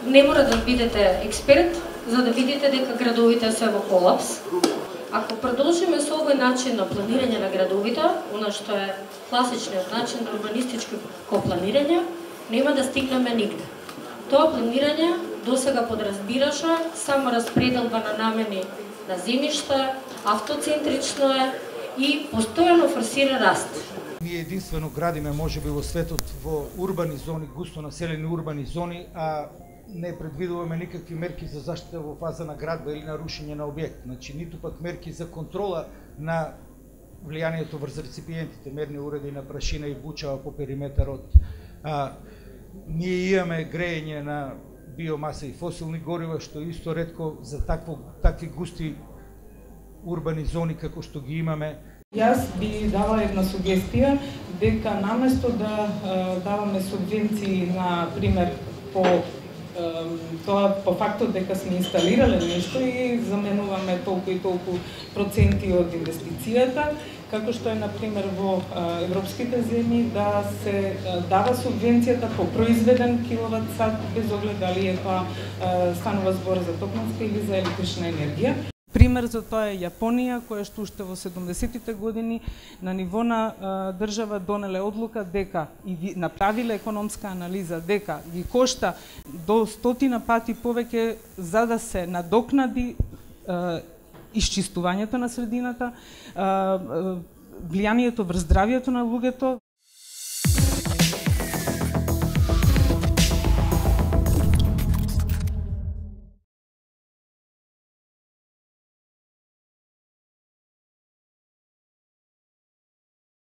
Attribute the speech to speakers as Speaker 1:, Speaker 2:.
Speaker 1: Не мора да бидете експерт за да видите дека градовите се во колапс. Ако продолжиме со овој начин на планирање на градовите, она што е класичниот начин на урбанистичко планирање, нема да стигнеме нигде. Тоа планирање досега подразбираше само распределба на намени на земјишта, автоцентрично е и постојано форсира раст.
Speaker 2: Ние единствено градиме можеби во светот во урбани зони, густо населени урбани зони, а не предвидуваме никакви мерки за заштита во фаза на градба или на рушење на објект. Значи, ниту пак мерки за контрола на влијанието врз реципиентите, мерни уреди на прашина и бучава по периметарот. Ние имаме грејење на биомаса и фосилни горива, што исто ретко за такви густи урбани зони како што ги имаме.
Speaker 3: Јас би дала една сугестија дека наместо да даваме субвенции, на пример, по фактот дека сме инсталирале нешто и заменуваме толку и толку проценти од инвестицијата, како што е, например, во европските земји, да се дава субвенцијата по произведен киловат сат, без оглед дали е тоа станува збор за токманска или за електрична енергија. Пример за тоа е Јапонија, која што уште во 70-тите години на ниво на држава донеле одлука дека и направиле економска анализа дека ги кошта до 100 пати повеќе за да се надокнади исчистувањето на средината, влијанието врз здравјето на луѓето.